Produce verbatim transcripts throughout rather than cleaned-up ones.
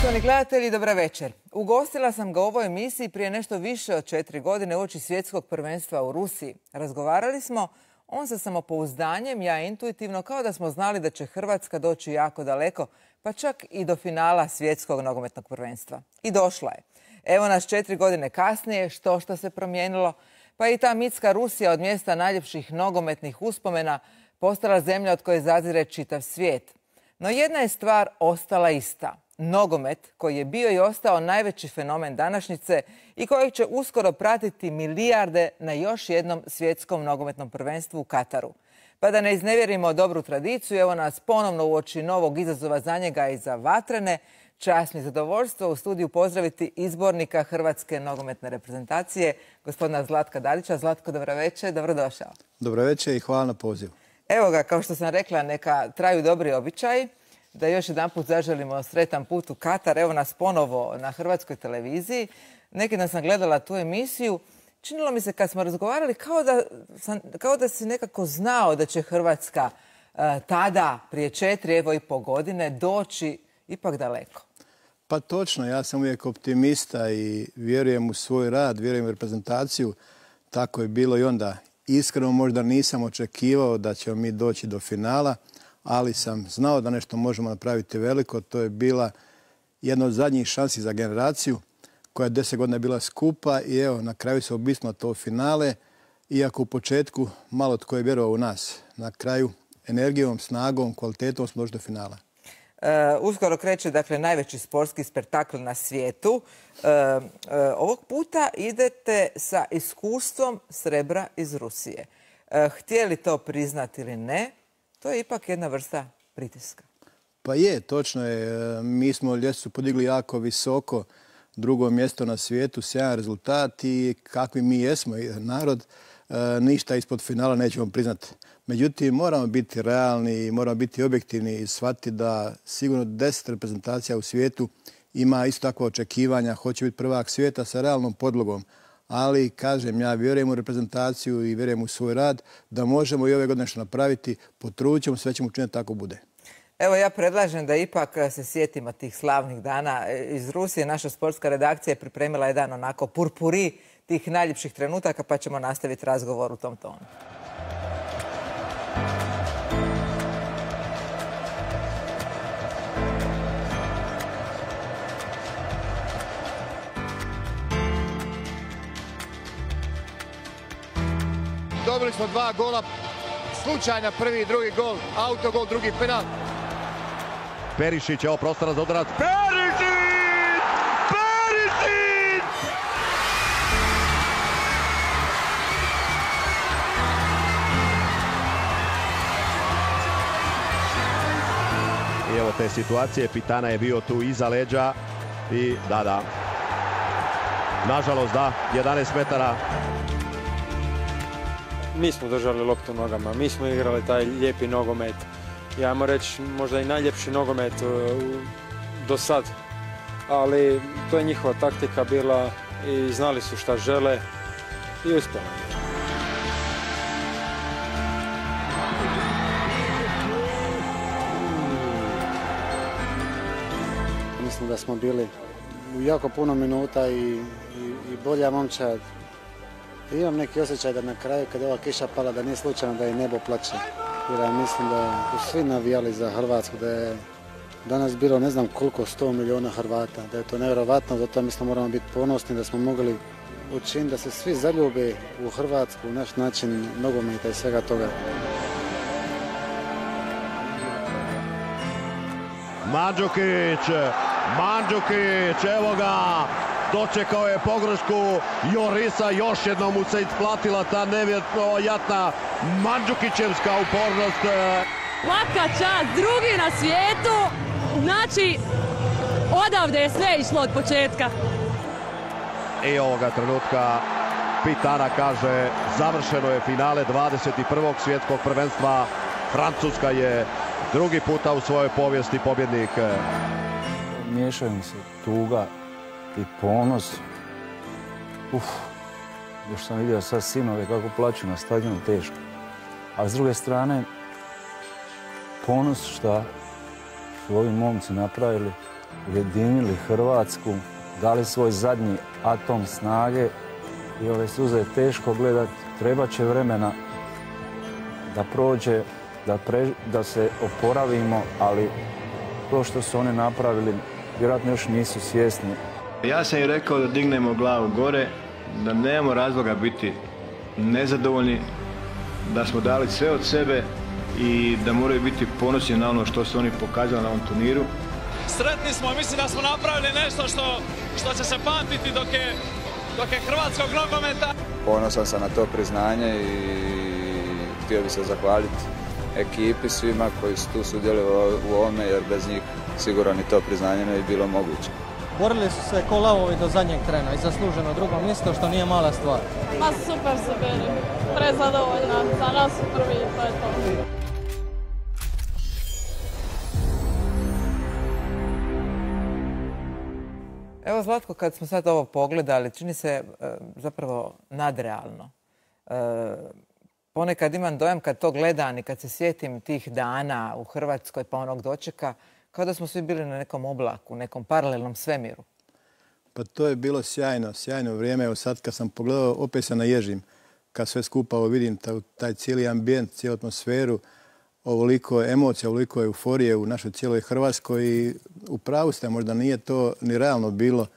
Poštovani gledatelji, dobra večer. Ugostila sam ga u ovoj emisiji prije nešto više od četiri godine uoči svjetskog prvenstva u Rusiji. Razgovarali smo, on sa samopouzdanjem, ja intuitivno, kao da smo znali da će Hrvatska doći jako daleko, pa čak i do finala svjetskog nogometnog prvenstva. I došla je. Evo nas četiri godine kasnije, što što se promijenilo, pa i ta mitska Rusija od mjesta najljepših nogometnih uspomena postala zemlja od koje zazire čitav svijet. No jedna je stvar ostala ista. Nogomet, koji je bio i ostao najveći fenomen današnjice i kojeg će uskoro pratiti milijarde na još jednom svjetskom nogometnom prvenstvu u Kataru. Pa da ne iznevjerimo dobru tradiciju, evo nas ponovno uoči novog izazova za njega i za vatrene. Čast mi i zadovoljstvo u studiju pozdraviti izbornika Hrvatske nogometne reprezentacije, gospodina Zlatka Dalića. Zlatko, dobro večer, dobrodošao. Dobro večer i hvala na pozivu. Evo ga, kao što sam rekla, neka traju dobri običaji. Da još jedan put zaželimo sretan put u Katar. Evo nas ponovo na hrvatskoj televiziji. Neki dan sam gledala tu emisiju. Činilo mi se kad smo razgovarali kao da, sam, kao da si nekako znao da će Hrvatska uh, tada, prije četiri, evo i po godine, doći ipak daleko. Pa točno, ja sam uvijek optimista i vjerujem u svoj rad, vjerujem u reprezentaciju. Tako je bilo i onda. Iskreno možda nisam očekivao da ćemo mi doći do finala, ali sam znao da nešto možemo napraviti veliko. To je bila jedna od zadnjih šansi za generaciju koja je deset godina bila skupa i evo, na kraju se obisnulo to finale, iako u početku malo tko je vjerovao u nas. Na kraju energijom, snagom, kvalitetom smo došli do finala. Uh, uskoro kreće, dakle, najveći sportski spektakl na svijetu. Uh, uh, ovog puta idete sa iskustvom srebra iz Rusije. Uh, htjeli to priznati ili ne, to je ipak jedna vrsta pritiska. Pa je, točno je. Mi smo ljestvicu podigli jako visoko, drugo mjesto na svijetu, sjajan rezultat i kakvi mi jesmo narod, ništa ispod finala nećemo priznati. Međutim, moramo biti realni i moramo biti objektivni i shvatiti da sigurno deset reprezentacija u svijetu ima isto takvo očekivanja, hoće biti prvak svijeta sa realnom podlogom. Ali, kažem, ja vjerujem u reprezentaciju i vjerujem u svoj rad da možemo i ove godine nešto napraviti, potrudit ćemo, sve ćemo učiniti tako bude. Evo, ja predlažem da ipak se sjetimo tih slavnih dana iz Rusije. Naša sportska redakcija je pripremila jedan onako purpuri tih najljepših trenutaka, pa ćemo nastaviti razgovor u tom tonu. Dobili smo dva gola, slučajna prvi i drugi gol, autogol, drugi penal. Perišić, evo prostora za udarac. Perišić! Perišić! I evo te situacije, Pitana je bio tu iza leđa i da, da. Nažalost, da, jedanaest metara. Mi smo držali loptu nogama, mi smo igrali taj lijepi nogomet. Ja moram reći možda i najljepši nogomet do sad. Ali to je njihova taktika bila i znali su šta žele i uspjeli. Mislim da smo bili u jako puno minuta i, i, i bolja momčad. Imam neki osjećaj da na kraju kad je ova kiša pala da nije slučajno da i nebo plače. Jer ja mislim da su svi navijali za Hrvatsku, da je danas bilo ne znam koliko sto milijuna Hrvata, da je to nevjerovatno, zato mislim moramo biti ponosni da smo mogli učiniti da se svi zaljube u Hrvatsku, u naš način nogometa i svega toga. Mandžukić, Mandžukić, evo ga! Dočekao je pogrešku Jorisa, još jednom mu se isplatila ta nevjerojatna Mandžukićevska upornost. Svaka čast, drugi na svijetu, znači odavde je sve išlo od početka. I ovoga trenutka Pitana kaže završeno je finale dvadeset prvog svjetskog prvenstva. Francuska je drugi puta u svojoj povijesti pobjednik. Miješaju mi se tuga i ponos. Uf, još sam vidio sad sinove kako plaću na stadionu, teško. A s druge strane, ponos šta su ovi momci napravili ujedinili Hrvatsku, dali svoj zadnji atom snage i ove suze je teško gledati. Treba će vremena da prođe, da, pre, da se oporavimo, ali to što su oni napravili, vjerojatno još nisu svjesni. Ja sam i rekao da dignemo glavu gore, da nemamo razloga biti nezadovoljni, da smo dali sve od sebe i da moraju biti ponosni na ono što su oni pokazali na ovom turniru. Sretni smo, mislim da smo napravili nešto što, što će se pamtiti dok je, dok je hrvatskog nogometa. Ponosan sam na to priznanje i htio bih se zahvaliti ekipi, svima koji su tu sudjelovali u ovome, jer bez njih sigurno ni to priznanje ne bi bilo moguće. Borili su se ko lavovi do zadnjeg trena i zasluženo drugo mjesto, što nije mala stvar. Ma super su bili, prezadovoljna, za nas su prvi i to je to. Evo Zlatko, kad smo sad ovo pogledali, čini se e, zapravo nadrealno. E, ponekad imam dojam kad to gledam i kad se sjetim tih dana u Hrvatskoj pa onog dočeka, kao da smo svi bili na nekom oblaku, nekom paralelnom svemiru. Pa to je bilo sjajno, sjajno vrijeme. Evo sad kad sam pogledao, opet se naježim. Kad sve skupa vidim taj, taj cijeli ambijent, cijelu atmosferu, ovoliko emocija, ovoliko euforije u našoj cijeloj Hrvatskoj i u pravu ste, možda nije to ni realno bilo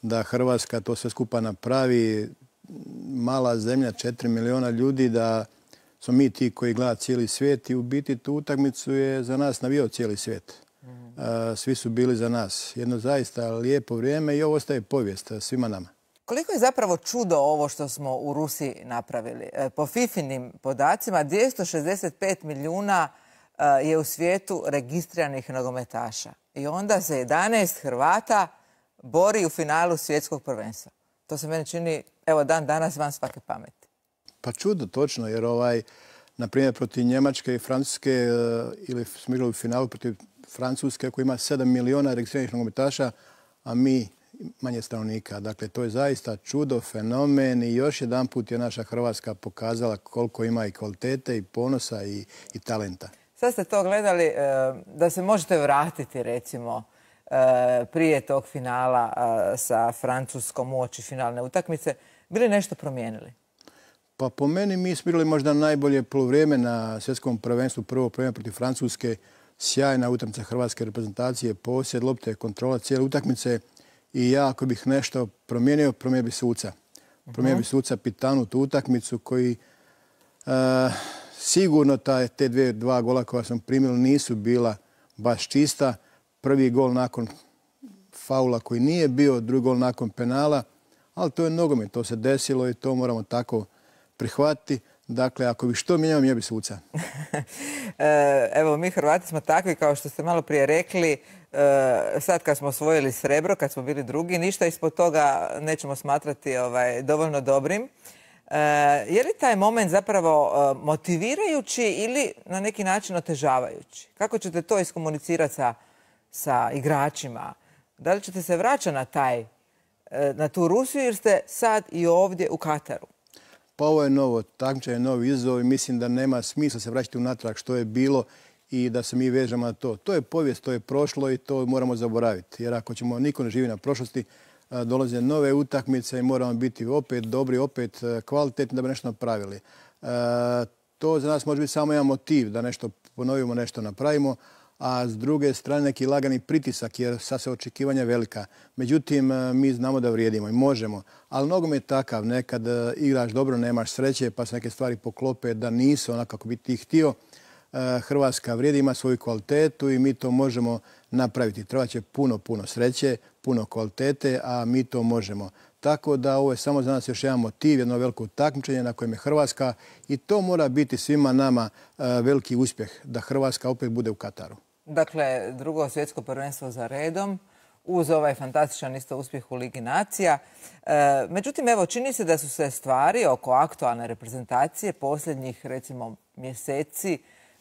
da Hrvatska to sve skupa napravi. Mala zemlja, četiri miliona ljudi, da smo mi ti koji gleda cijeli svijet i u biti tu utakmicu je za nas navijao cijeli svijet. Svi su bili za nas. Jedno zaista lijepo vrijeme i ovo ostaje povijest svima nama. Koliko je zapravo čudo ovo što smo u Rusiji napravili? Po fifinim podacima dvjesto šezdeset pet milijuna je u svijetu registriranih nogometaša. I onda se jedanaest Hrvata bori u finalu svjetskog prvenstva. To se meni čini, evo, dan danas van svake pameti. Pa čudo, točno, jer ovaj, na primjer, protiv Njemačke i Francuske ili smo igrali u finalu protiv Francuske koja ima sedam miliona registriranih nogometaša, a mi manje stanovnika. Dakle, to je zaista čudo, fenomen i još jedan put je naša Hrvatska pokazala koliko ima i kvalitete i ponosa i, i talenta. Sad ste to gledali, da se možete vratiti, recimo, prije tog finala sa Francuskom uoči finalne utakmice. Bili nešto promijenili? Pa po meni mi smo igrali možda najbolje poluvrijeme na svjetskom prvenstvu, prvo prvenstvo protiv Francuske. Sjajna utakmica hrvatske reprezentacije, posjed lopte, kontrola cijele utakmice. I ja, ako bih nešto promijenio, promijenio bi suca. Promijenio bi suca Pitanu tu utakmicu koji uh, sigurno taj, te dvije, dva gola koja sam primio nisu bila baš čista. Prvi gol nakon faula koji nije bio, drugi gol nakon penala, ali to je nogomet, to se desilo i to moramo tako prihvatiti. Dakle, ako bi što mijenjao, mijenjao bi suca. Evo, mi Hrvati smo takvi, kao što ste malo prije rekli, sad kad smo osvojili srebro, kad smo bili drugi, ništa ispod toga nećemo smatrati ovaj, dovoljno dobrim. Je li taj moment zapravo motivirajući ili na neki način otežavajući? Kako ćete to iskomunicirati sa, sa igračima? Da li ćete se vraćati na, taj, na tu Rusiju jer ste sad i ovdje u Kataru? Pa ovo je novo takmičenje, novi izazov i mislim da nema smisla se vraćati unatrag što je bilo i da se mi vežemo na to. To je povijest, to je prošlo i to moramo zaboraviti. Jer ako ćemo, niko ne živi na prošlosti, dolaze nove utakmice i moramo biti opet dobri, opet kvalitetni da bi nešto napravili. To za nas može biti samo jedan motiv da nešto ponovimo, nešto napravimo, a s druge strane neki lagani pritisak jer sad se očekivanja velika. Međutim, mi znamo da vrijedimo i možemo, ali nogomet je takav. Nekad igraš dobro, nemaš sreće pa se neke stvari poklope da nisu onako kako bi ti htio. Hrvatska vrijedi, ima svoju kvalitetu i mi to možemo napraviti. Treba će puno, puno sreće, puno kvalitete, a mi to možemo. Tako da ovo je samo za nas još jedan motiv, jedno veliko takmičenje na kojem je Hrvatska i to mora biti svima nama veliki uspjeh da Hrvatska opet bude u Kataru. Dakle, drugo svjetsko prvenstvo za redom, uz ovaj fantastičan isto uspjeh u Ligi nacija. E, međutim, evo, čini se da su se stvari oko aktualne reprezentacije posljednjih, recimo, mjeseci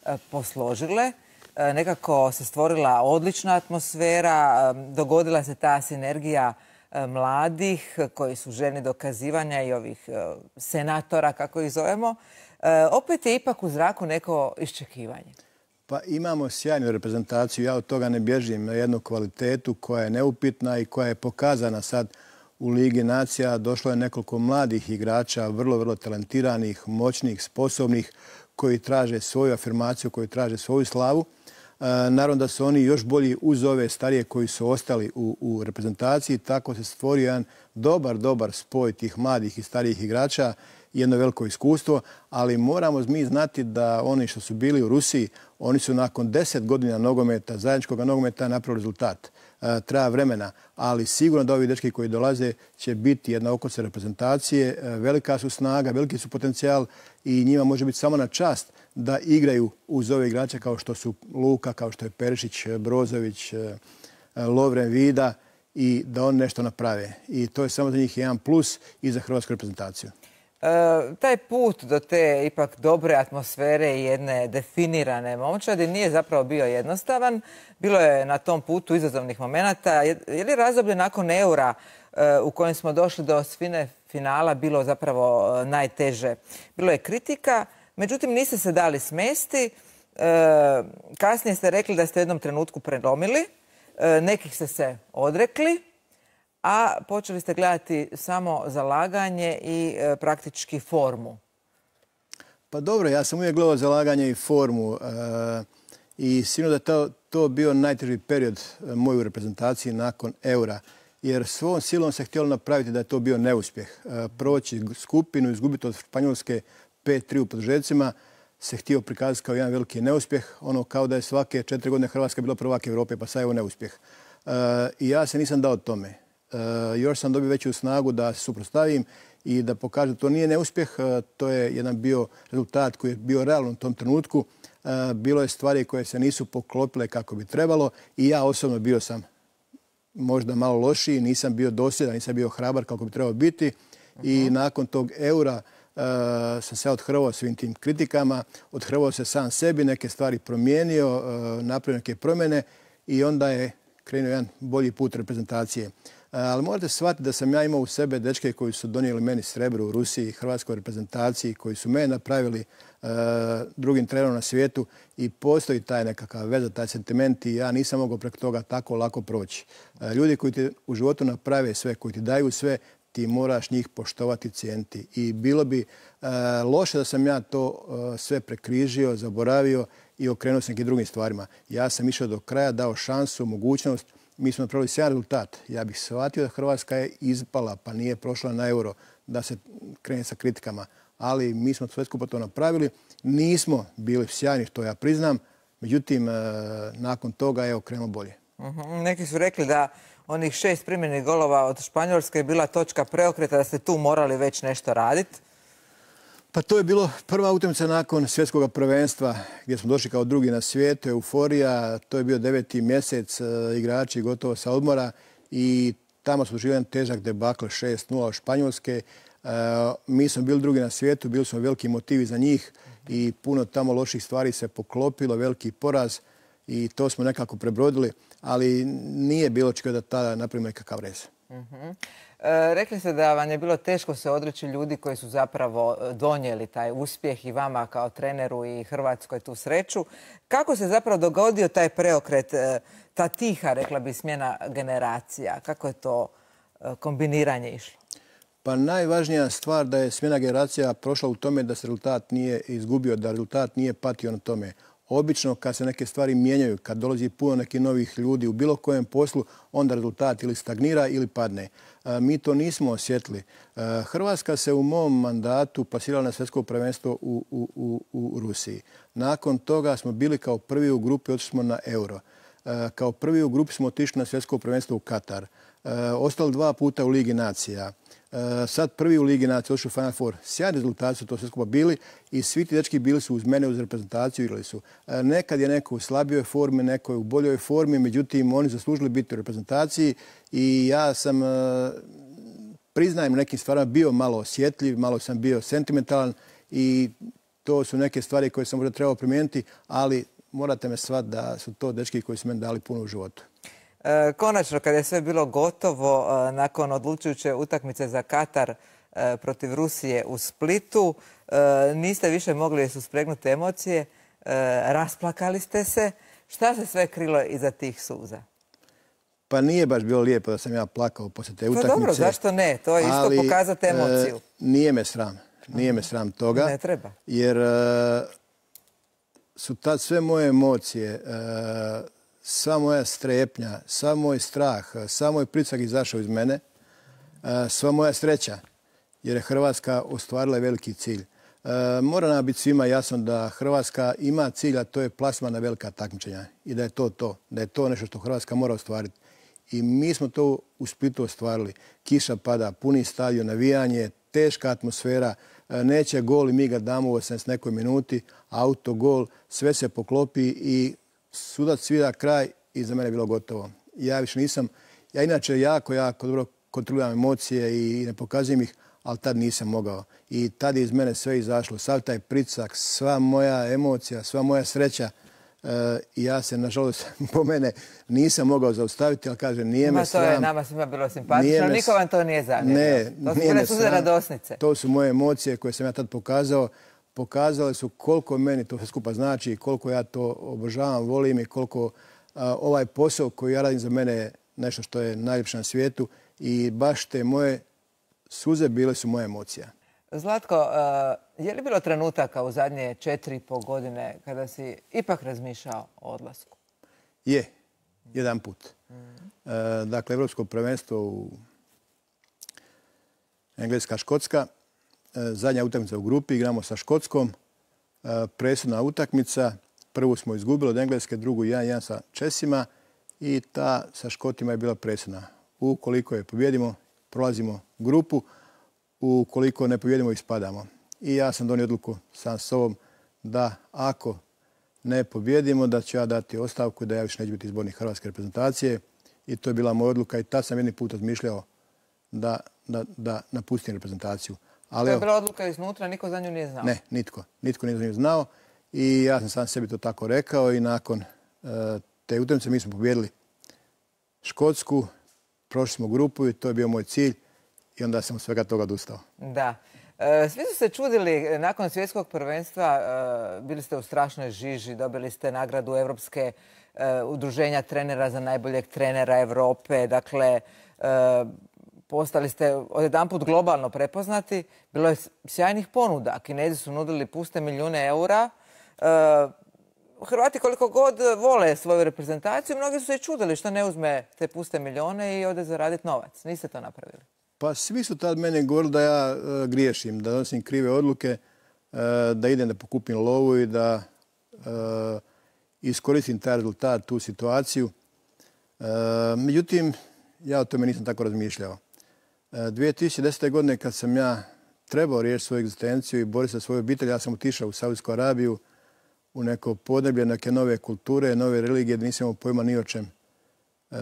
e, posložile. E, nekako se stvorila odlična atmosfera, e, dogodila se ta sinergija e, mladih koji su željni dokazivanja i ovih e, senatora, kako ih zovemo. E, opet je ipak u zraku neko iščekivanje. Pa imamo sjajnu reprezentaciju, ja od toga ne bježim, na jednu kvalitetu koja je neupitna i koja je pokazana sad u Ligi nacija. Došlo je nekoliko mladih igrača, vrlo, vrlo talentiranih, moćnih, sposobnih, koji traže svoju afirmaciju, koji traže svoju slavu. Naravno da su oni još bolji uz ove starije koji su ostali u, u reprezentaciji. Tako se stvorio jedan dobar, dobar spoj tih mladih i starijih igrača, jedno veliko iskustvo, ali moramo mi znati da oni što su bili u Rusiji, oni su nakon deset godina nogometa, zajedničkog nogometa napravili rezultat. E, treba vremena, ali sigurno da ovi dečki koji dolaze će biti jedna okosnica reprezentacije. E, velika su snaga, veliki su potencijal i njima može biti samo na čast da igraju uz ove igrače kao što su Luka, kao što je Perišić, Brozović, e, Lovren, Vida i da oni nešto naprave. I to je samo za njih jedan plus i za hrvatsku reprezentaciju. E, taj put do te ipak dobre atmosfere i jedne definirane momčadi nije zapravo bio jednostavan. Bilo je na tom putu izazovnih momenata. Je, je li razdoblje nakon Eura e, u kojem smo došli do osmine finala bilo zapravo e, najteže? Bilo je kritika, međutim niste se dali smesti. E, kasnije ste rekli da ste u jednom trenutku prelomili. E, nekih ste se odrekli, a počeli ste gledati samo zalaganje i e, praktički formu. Pa dobro, ja sam uvijek gledao zalaganje i formu e, i sigurno da je to, to bio najteži period moj u reprezentaciji nakon Eura, jer svom silom se htjelo napraviti da je to bio neuspjeh. E, proći skupinu, izgubiti od Španjolske pet tri u produžecima se htio prikazati kao jedan veliki neuspjeh, ono kao da je svake četiri godine Hrvatska bila prvak Europe, pa sad je ovo neuspjeh. E, I ja se nisam dao tome. Uh, još sam dobio veću snagu da se suprotstavim i da pokažem da to nije neuspjeh. Uh, to je jedan bio rezultat koji je bio realan u tom trenutku. Uh, bilo je stvari koje se nisu poklopile kako bi trebalo i ja osobno bio sam možda malo lošiji, nisam bio dosljedan, nisam bio hrabar kako bi trebao biti. Uh-huh. I nakon tog Eura uh, sam se odhrvao svim tim kritikama, odhrvao se sam sebi, neke stvari promijenio, uh, napravio neke promjene i onda je krenuo jedan bolji put reprezentacije. Ali morate shvatiti da sam ja imao u sebe dečke koji su donijeli meni srebro u Rusiji, hrvatskoj reprezentaciji, koji su mene napravili uh, drugim trenerom na svijetu i postoji taj nekakav veza, taj sentiment i ja nisam mogao preko toga tako lako proći. Uh, ljudi koji ti u životu naprave sve, koji ti daju sve, ti moraš njih poštovati, cijeniti. I bilo bi uh, loše da sam ja to uh, sve prekrižio, zaboravio i okrenuo se nekim drugim stvarima. Ja sam išao do kraja, dao šansu, mogućnost. Mi smo napravili sjajan rezultat. Ja bih shvatio da Hrvatska je ispala, pa nije prošla na Euro, da se krene sa kritikama. Ali mi smo sve skupo to napravili. Nismo bili sjajni, što ja priznam. Međutim, nakon toga je krenulo bolje. Uh-huh. Neki su rekli da onih šest primljenih golova od Španjolske je bila točka preokreta, da ste tu morali već nešto raditi. Pa to je bilo prva utakmica nakon svjetskog prvenstva gdje smo došli kao drugi na svijetu, euforija, to je bio deveti mjesec, igrači gotovo sa odmora i tamo smo doživjeli jedan težak debakl šest nula od Španjolske. Mi smo bili drugi na svijetu, bili smo veliki motivi za njih i puno tamo loših stvari se poklopilo, veliki poraz i to smo nekako prebrodili, ali nije bilo čega da tada napravimo nekakav rez. Uh-huh. E, rekli ste da vam je bilo teško se odreći ljudi koji su zapravo donijeli taj uspjeh i vama kao treneru i Hrvatskoj tu sreću. Kako se zapravo dogodio taj preokret, ta tiha, rekla bi, smjena generacija? Kako je to kombiniranje išlo? Pa najvažnija stvar da je smjena generacija prošla u tome da se rezultat nije izgubio, da rezultat nije patio na tome. Obično kad se neke stvari mijenjaju, kad dolazi puno nekih novih ljudi u bilo kojem poslu, onda rezultat ili stagnira ili padne. Mi to nismo osjetili. Hrvatska se u mom mandatu plasirala na svjetsko prvenstvo u, u, u, u Rusiji. Nakon toga smo bili kao prvi u grupi, otišli smo na Euro. Kao prvi u grupi smo otišli na svjetsko prvenstvo u Katar. Ostali dva puta u Ligi nacija. Sad prvi u Ligi nacija, otišli u Final Four. Sjajni rezultati su to sve skupa bili i svi ti dečki bili su uz mene, uz reprezentaciju, igrali su. Nekad je neko u slabijoj formi, neko je u boljoj formi, međutim oni zaslužili biti u reprezentaciji i ja sam, priznajem nekim stvarima, bio malo osjetljiv, malo sam bio sentimentalan i to su neke stvari koje sam možda trebao primijeniti, ali morate me shvatiti da su to dečki koji su meni dali puno u životu. Konačno, kada je sve bilo gotovo, nakon odlučujuće utakmice za Katar protiv Rusije u Splitu, niste više mogli suspregnuti emocije. rasplakali ste se. Šta se sve krilo iza tih suza? Pa nije baš bilo lijepo da sam ja plakao poslije te utakmice. Pa dobro, zašto ne? To je isto pokazati emociju. E, nije me sram. Nije me sram toga. Ne treba. Jer e, su tad sve moje emocije, e, sva moja strepnja, sav moj strah, sav moj pritisak izašao iz mene, e, sva moja sreća, jer je Hrvatska ostvarila veliki cilj. E, mora nam biti svima jasno da Hrvatska ima cilj, a to je plasman na velika takmičenja. I da je to to. Da je to nešto što Hrvatska mora ostvariti. I mi smo to u Splitu ostvarili. Kiša pada, puni stadion, navijanje, teška atmosfera, neće gol i mi ga damo u osamdeset nekoj minuti, autogol, sve se poklopi i sudac svira kraj i za mene je bilo gotovo. Ja više nisam, ja inače jako, jako dobro kontroliram emocije i ne pokazujem ih, ali tad nisam mogao. I tad je iz mene sve izašlo, sav taj pritisak, sva moja emocija, sva moja sreća. I ja se, nažalost, po mene nisam mogao zaustaviti, ali kažem, nije me sram. To je nama svima bilo simpatično, niko vam to nije zamjerio. Ne, to su bile suze radosnice. To su moje emocije koje sam ja tad pokazao. Pokazale su koliko meni to sve skupa znači, koliko ja to obožavam, volim i koliko a, ovaj posao koji ja radim za mene je nešto što je najljepše na svijetu i baš te moje suze bile su moje emocije. Zlatko, je li bilo trenutaka u zadnje četiri i pol godine kada si ipak razmišljao o odlasku? Je, jedan put. Dakle, Evropsko prvenstvo u Engleska-Škotska. Zadnja utakmica u grupi, igramo sa Škotskom. Presudna utakmica. Prvu smo izgubili od Engleske, drugu jedan jedan sa Česima i ta sa Škotima je bila presudna. Ukoliko je pobjedimo, prolazimo grupu. Ukoliko ne pobjedimo, ispadamo. I ja sam donio odluku sam s sobom da ako ne pobjedimo, da ću ja dati ostavku i da ja više neću biti izbornik hrvatske reprezentacije. I to je bila moja odluka i tad sam jedni put razmišljao da, da, da napustim reprezentaciju. Ali, to je bila odluka iznutra, niko za nju nije znao? Ne, nitko. Nitko nije za nju znao i ja sam sam sebi to tako rekao i nakon uh, te utakmice mi smo pobjedili Škotsku, prošli smo grupu i to je bio moj cilj. I onda sam od svega toga odustao. Da. E, svi su se čudili nakon svjetskog prvenstva. E, bili ste u strašnoj žiži, dobili ste nagradu Evropske e, udruženja trenera za najboljeg trenera Europe. Dakle, e, postali ste odjedanput globalno prepoznati. Bilo je sjajnih ponuda. Kinezi su nudili puste milijune eura. E, Hrvati koliko god vole svoju reprezentaciju, mnogi su se i čudili što ne uzme te puste milijune i ode zaraditi novac. Niste to napravili. Pa svi su tad mene govorili da ja e, griješim, da donosim krive odluke, e, da idem da pokupim lovu i da e, iskoristim taj rezultat, tu situaciju. E, međutim, ja o tome nisam tako razmišljao. E, dvije tisuće desete. godine kad sam ja trebao riješiti svoju egzistenciju i boriti za svoju obitelj, ja sam otišao u Saudijsku Arabiju, u neko podneblje, neke nove kulture, nove religije, da nisam imao pojma ni o čem. E,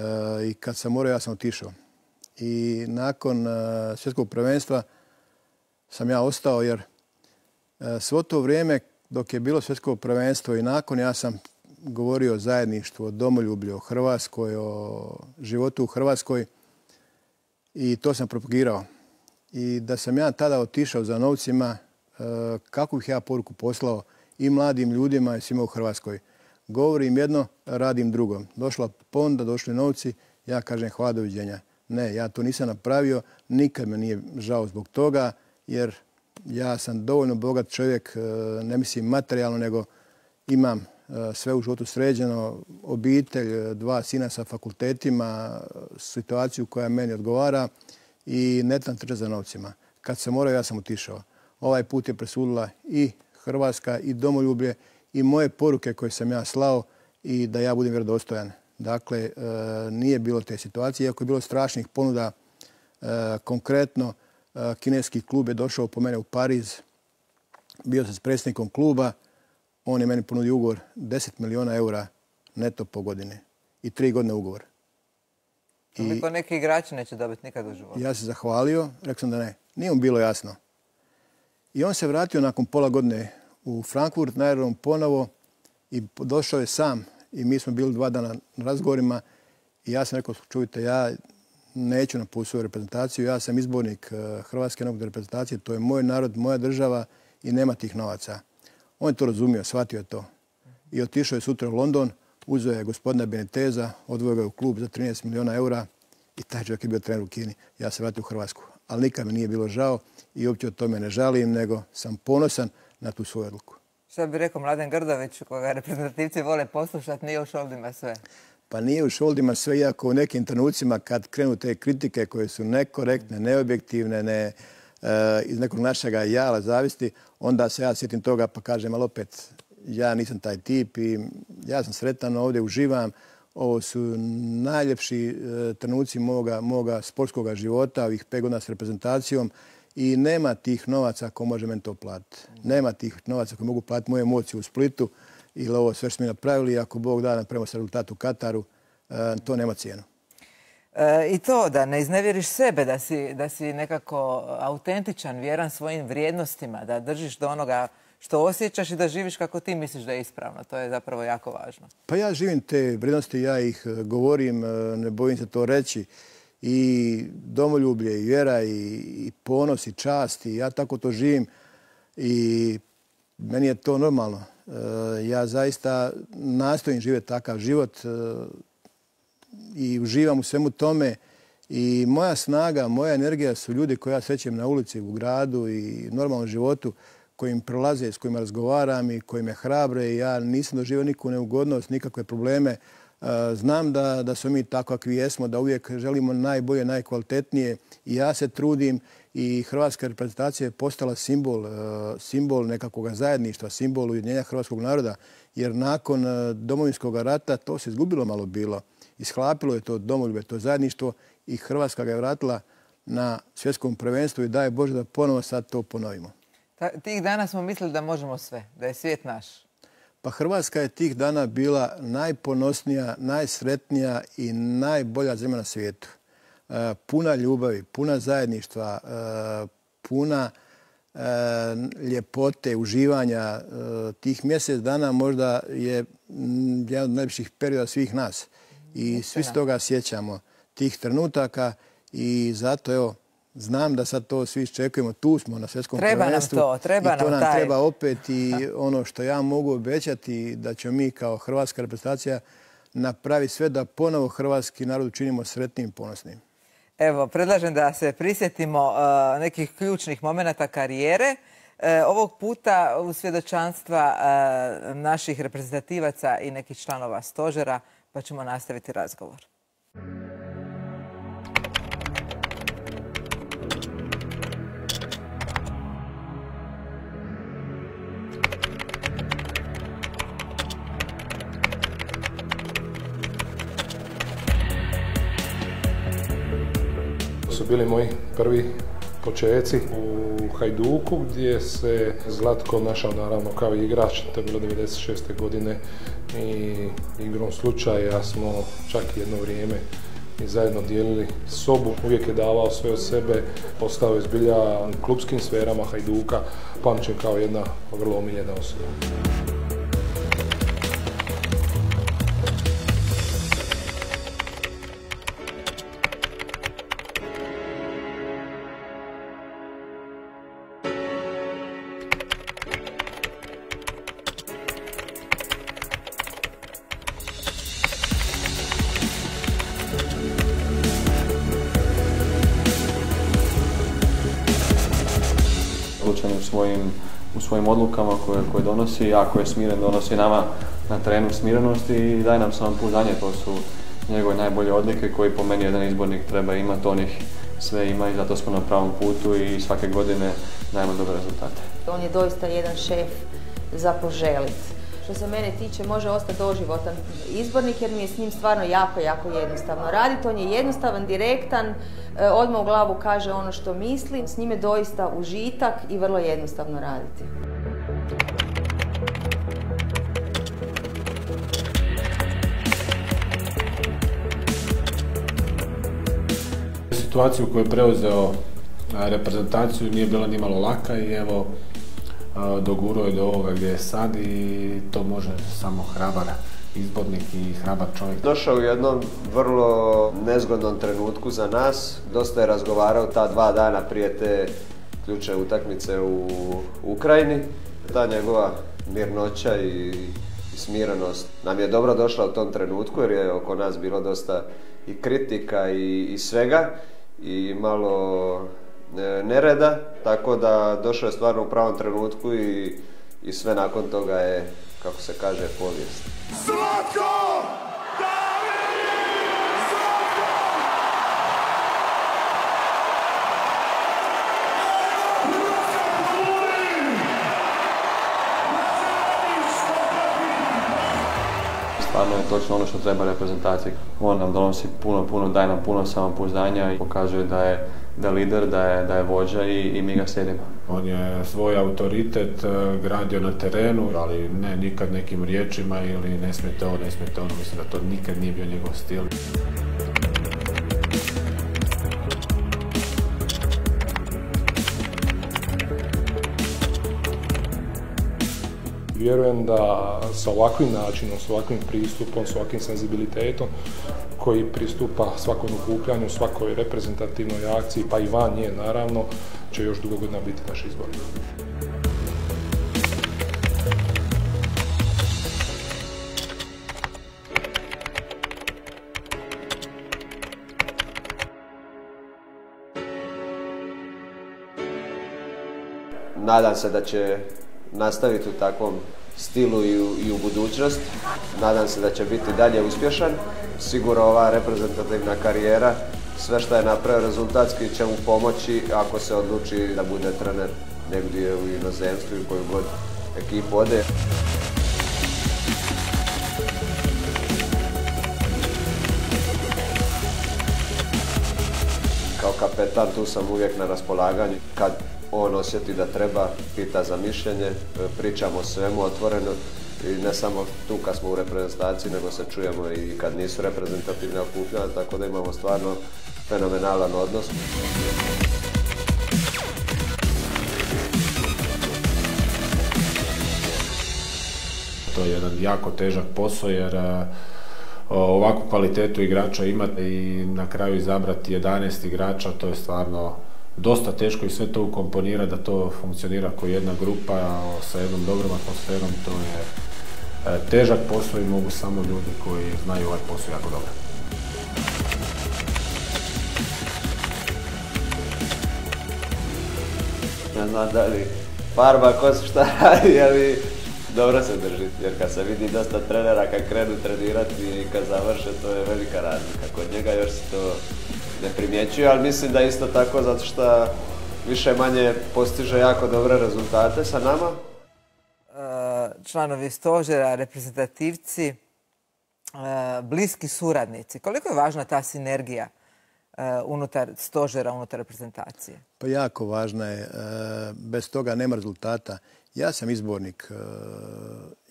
I kad sam morao, ja sam otišao. I nakon uh, svjetskog prvenstva sam ja ostao jer uh, svo to vrijeme dok je bilo svjetsko prvenstvo i nakon ja sam govorio o zajedništvu, o domoljublju, o Hrvatskoj, o životu u Hrvatskoj i to sam propagirao. I da sam ja tada otišao za novcima, uh, kakvu bih ja poruku poslao i mladim ljudima i svima u Hrvatskoj. Govorim jedno, radim drugo. Došla ponuda, došli novci, ja kažem hvala, doviđenja. Ne, ja to nisam napravio, nikad me nije žao zbog toga, jer ja sam dovoljno bogat čovjek, ne mislim materijalno, nego imam sve u životu sređeno, obitelj, dva sina sa fakultetima, situaciju koja meni odgovara i ne tam trče za novcima. Kad sam morao, ja sam otišao. Ovaj put je presudila i Hrvatska i domoljublje i moje poruke koje sam ja slao i da ja budem vjerodostojan. Dakle, nije bilo te situacije, iako je bilo strašnih ponuda. Konkretno, kineski klub je došao po mene u Pariz, bio sam s predsjednikom kluba, on je meni ponudio ugovor deset milijuna eura neto po godini i tri godine ugovor. Toliko neki igrači neće dobiti nikad u životu. Ja se zahvalio, rekao sam da ne. Nije mu bilo jasno. I on se vratio nakon pola godine u Frankfurt na aerodrom ponovo i došao je sam. I mi smo bili dva dana na razgovorima i ja sam rekao, čujte, ja neću napustiti svoju reprezentaciju, ja sam izbornik Hrvatske nogometne reprezentacije, to je moj narod, moja država i nema tih novaca. On je to razumio, shvatio je to. i otišao je sutra u London, uzeo je gospodina Beniteza, odvojio ga u klub za trinaest milijuna eura i taj čovjek je bio trener u Kini. Ja se vratio u Hrvatsku, ali nikad mi nije bilo žao i uopće o tome ne žalim, nego sam ponosan na tu svoju odluku. Što bi rekao Mladen Grdović, koga reprezentativci vole poslušati, nije u šoldima sve? Pa nije u šoldima sve, iako u nekim trenucima kad krenu te kritike koje su nekorektne, neobjektivne, ne, uh, iz nekog našega jala zavisti, onda se ja sjetim toga pa kažem, ali opet, ja nisam taj tip i ja sam sretan, ovdje uživam. Ovo su najljepši uh, trenuci moga, moga sportskog života, ovih pet godina s reprezentacijom i nema tih novaca ko može meni to platiti. Nema tih novaca koji mogu platiti moje emociju u Splitu ili ovo sve što smo mi napravili. Ako Bog da napravimo se rezultat u Kataru, uh, to nema cijenu. E, I to da ne iznevjeriš sebe, da si, da si nekako autentičan, vjeran svojim vrijednostima, da držiš do onoga što osjećaš i da živiš kako ti misliš da je ispravno. To je zapravo jako važno. Pa ja živim te vrijednosti, ja ih govorim, ne bojim se to reći. I domoljublje, i vjera, i, i ponos, i čast. I ja tako to živim i meni je to normalno. E, ja zaista nastojim živjeti takav život e, i uživam u svemu tome. I moja snaga, moja energija su ljudi koje ja srećem na ulici, u gradu i normalnom životu, kojim prolaze, s kojima razgovaram i koji me hrabre. Ja nisam doživio nikakvu neugodnost, nikakve probleme. Znam da, da smo mi tako kakvi jesmo, da uvijek želimo najbolje, najkvalitetnije i ja se trudim i hrvatska reprezentacija je postala simbol, simbol nekakvog zajedništva, simbol ujedinjenja hrvatskog naroda, jer nakon Domovinskog rata to se izgubilo malo bilo. Ishlapilo je to domoljublje, to zajedništvo i Hrvatska ga je vratila na svjetskom prvenstvu i daj Bože da ponovo sad to ponovimo. Tih dana smo mislili da možemo sve, da je svijet naš. Pa Hrvatska je tih dana bila najponosnija, najsretnija i najbolja zemlja na svijetu. E, puna ljubavi, puna zajedništva, e, puna e, ljepote, uživanja. E, tih mjesec dana možda je jedan od najljepših perioda svih nas. I svi s toga sjećamo tih trenutaka i zato evo, znam da sad to svi iščekujemo, tu smo na svjetskom prvenstvu. Treba nam to, treba nam taj. I to nam treba opet i ono što ja mogu obećati da ćemo mi kao hrvatska reprezentacija napraviti sve da ponovo hrvatski narod učinimo sretnim i ponosnim. Evo, predlažem da se prisjetimo uh, nekih ključnih momenata karijere. Uh, ovog puta u svjedočanstva uh, naših reprezentativaca i nekih članova stožera, pa ćemo nastaviti razgovor. Su bili moji prvi počeci u Hajduku gdje se Zlatko našao naravno kao igrač, to je bilo devedeset šeste godine i igrom slučaja smo čak jedno vrijeme i zajedno dijelili sobu. Uvijek je davao sve od sebe, postao je zbilja u klubskim sferama Hajduka, pamćen kao jedna vrlo omiljena osoba. U svojim, u svojim odlukama koje, koje donosi, jako je smiren, donosi nama na terenu smirenosti i daje nam samopouzdanje. To su njegove najbolje odlike koji po meni jedan izbornik treba imati, on ih sve ima i zato smo na pravom putu i svake godine dajemo dobre rezultate. On je doista jedan šef za poželit. Što se mene tiče, može ostati doživotan izbornik jer mi je s njim stvarno jako, jako jednostavno raditi. On je jednostavan, direktan, odmah u glavu kaže ono što misli. S njim je doista užitak i vrlo jednostavno raditi. Situacija u kojoj je preuzeo reprezentaciju nije bila ni malo laka i evo dogurao je do ovoga gdje je sad i to može samo hrabar izbornik i hrabar čovjek. Došao u jednom vrlo nezgodnom trenutku za nas. Dosta je razgovarao ta dva dana prije te ključne utakmice u Ukrajini. Ta njegova mirnoća i i smirenost nam je dobro došla u tom trenutku jer je oko nas bilo dosta i kritika i, i svega i malo e, nereda, tako da došlo je stvarno u pravom trenutku i, i sve nakon toga je, kako se kaže, povijest. Zlatko! Stvarno je točno ono što treba reprezentaciji. On nam donosi puno, puno, daje nam puno samopouzdanja i pokazuje da je, da je lider, da je, da je vođa i, i mi ga slijedimo. On je svoj autoritet gradio na terenu, ali ne nikad nekim riječima ili ne smijete ovo, ne smijete ono. Mislim da to nikad nije bio njegov stil. Vjerujem da sa ovakvim načinom, s ovakvim pristupom, s ovakvim senzibilitetom koji pristupa svakom okupljanju, svakoj reprezentativnoj akciji, pa i van nje naravno, će još dugo godina biti naš izbor. Nadam se da će nastaviti u takvom stilu i u, i u budućnost. Nadam se da će biti dalje uspješan. Sigurno ova reprezentativna karijera, sve što je napravio rezultatski će mu pomoći ako se odluči da bude trener negdje u inozemstvu i koju god ekipu ode. Kao kapetan tu sam uvijek na raspolaganju. Kad on osjeti da treba, pita za mišljenje, pričamo o svemu otvoreno i ne samo tu kad smo u reprezentaciji, nego se čujemo i kad nisu reprezentativne okupljanja, tako da imamo stvarno fenomenalan odnos. To je jedan jako težak posao jer ovakvu kvalitetu igrača imati i na kraju izabrati jedanaest igrača, to je stvarno dosta teško i sve to ukomponira da to funkcionira kao jedna grupa sa jednom dobrom atmosferom. To je težak posao i mogu samo ljudi koji znaju ovaj posao jako dobro. Ne znam da li farba kosu šta radi, ali dobro se drži. Jer kad se vidi dosta trenera kad krenu trenirati i kad završe, to je velika razlika. Kod njega još se to ne primjećuje, ali mislim da isto tako zato što više manje postiže jako dobre rezultate sa nama. Članovi stožera, reprezentativci, bliski suradnici. Koliko je važna ta sinergija unutar stožera, unutar reprezentacije? Pa jako važna je. Bez toga nema rezultata. Ja sam izbornik,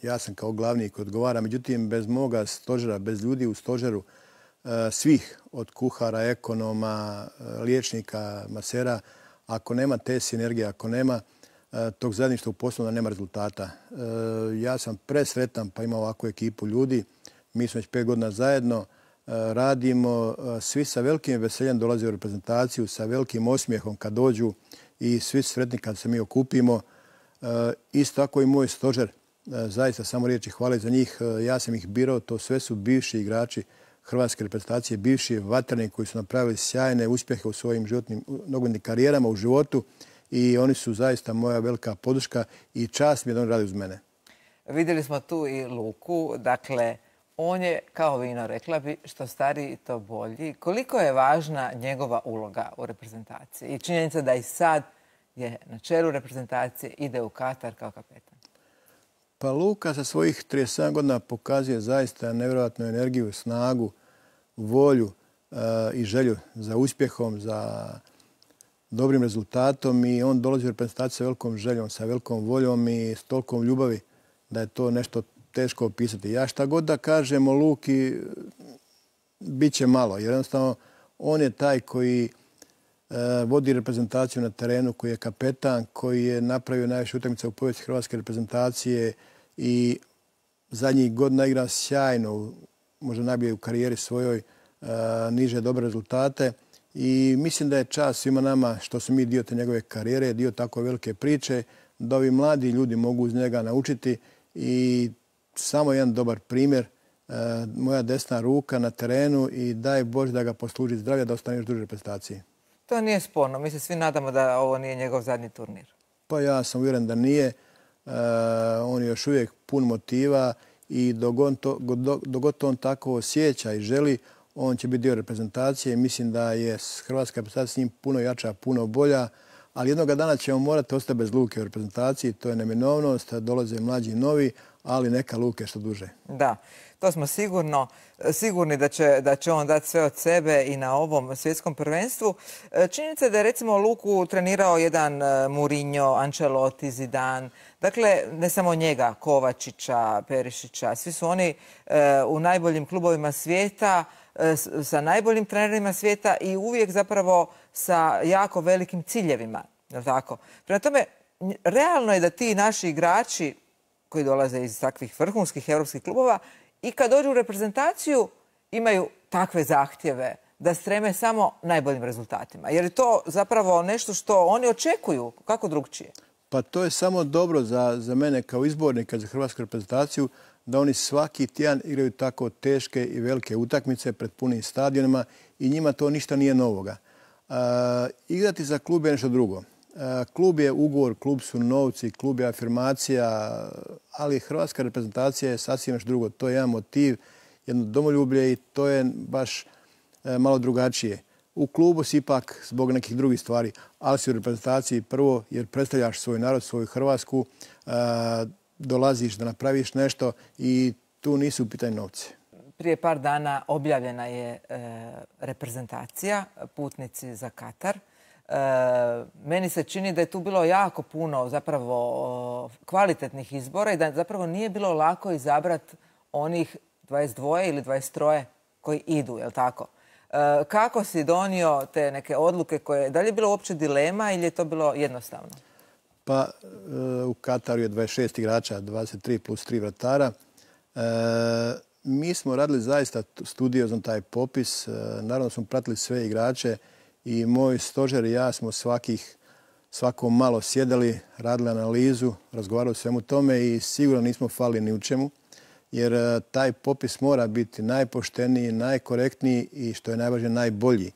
ja sam kao glavni koji odgovara, međutim bez moga stožera, bez ljudi u stožeru, svih, od kuhara, ekonoma, liječnika, masera, ako nema te sinergije, ako nema tog zajedništva u poslu, da nema rezultata. Ja sam presretan pa imam ovakvu ekipu ljudi. Mi smo već pet godina zajedno, radimo, svi sa velikim veseljem dolaze u reprezentaciju, sa velikim osmijehom kad dođu i svi sretni kad se mi okupimo. Isto tako i moj stožer, zaista samo riječi hvale za njih. Ja sam ih birao, to sve su bivši igrači hrvatske reprezentacije, bivši vatreni koji su napravili sjajne uspjehe u svojim životnim nogometnim karijerama u životu i oni su zaista moja velika podrška i čast mi je da oni rade uz mene. Vidjeli smo tu i Luku, dakle, on je, kao vino rekla bi, što stariji to bolji. Koliko je važna njegova uloga u reprezentaciji i činjenica da i sad je na čelu reprezentacije, ide u Katar kao kapetan? Pa Luka sa svojih trideset sedam godina pokazuje zaista nevjerojatnu energiju, snagu, volju uh, i želju za uspjehom, za dobrim rezultatom i on dolazi u reprezentaciju sa velikom željom, sa velikom voljom i s tolikom ljubavi da je to nešto teško opisati. Ja šta god da kažem o Luki, bit će malo, jer jednostavno on je taj koji uh, vodi reprezentaciju na terenu, koji je kapetan, koji je napravio najviše utakmica u povijesti hrvatske reprezentacije i zadnjih godina igra sjajno, možda najbolje u karijeri svojoj, uh, niže dobre rezultate. I mislim da je čast svima nama što smo mi dio te njegove karijere, dio tako velike priče, da ovi mladi ljudi mogu uz njega naučiti i samo jedan dobar primjer. Moja desna ruka na terenu i daj Bože da ga posluži zdravlja da ostane još duže reprezentaciji. To nije sporno. Mi se svi nadamo da ovo nije njegov zadnji turnir. Pa ja sam uvjeren da nije. On je još uvijek pun motiva i dok on tako osjeća i želi, on će biti dio reprezentacije. Mislim da je hrvatska reprezentacija s njim puno jača, puno bolja, ali jednoga dana ćemo morati ostati bez Luke u reprezentaciji. To je neminovnost, dolaze mlađi i novi, ali neka Luke što duže. Da, to smo sigurno, sigurni da će, da će on dati sve od sebe i na ovom svjetskom prvenstvu. Činjenica je da je recimo Luku trenirao jedan Mourinho, Ancelotti, Zidane. Dakle, ne samo njega, Kovačića, Perišića. Svi su oni e, u najboljim klubovima svijeta, e, sa najboljim trenerima svijeta i uvijek zapravo sa jako velikim ciljevima. Je li tako? Prema tome, realno je da ti naši igrači koji dolaze iz takvih vrhunskih europskih klubova i kad dođu u reprezentaciju imaju takve zahtjeve da streme samo najboljim rezultatima. Jer je to zapravo nešto što oni očekuju, kako drugčije? Pa to je samo dobro za, za mene kao izbornika za hrvatsku reprezentaciju, da oni svaki tjedan igraju tako teške i velike utakmice pred punim stadionima i njima to ništa nije novoga. E, igrati za klub je nešto drugo. E, klub je ugovor, klub su novci, klub je afirmacija, ali hrvatska reprezentacija je sasvim nešto drugo. To je jedan motiv, jedno domoljublje i to je baš e, malo drugačije. U klubu si ipak zbog nekih drugih stvari, ali si u reprezentaciji prvo jer predstavljaš svoj narod, svoju Hrvatsku, e, dolaziš da napraviš nešto i tu nisu u pitanju novci. Prije par dana objavljena je e, reprezentacija, putnici za Katar. E, meni se čini da je tu bilo jako puno zapravo kvalitetnih izbora i da zapravo nije bilo lako izabrati onih dvadeset dva ili dvadeset tri koji idu, je li tako? E, kako si donio te neke odluke koje, da li je bilo uopće dilema ili je to bilo jednostavno? Pa u Kataru je dvadeset šest igrača, dvadeset tri plus tri vratara. E, mi smo radili zaista studiozno taj popis. E, naravno smo pratili sve igrače i moj stožer i ja smo svakih, svako malo sjedali, radili analizu, razgovarali o svemu tome i sigurno nismo falili ni u čemu. Jer e, taj popis mora biti najpošteniji, najkorektniji i što je najvažnije najbolji.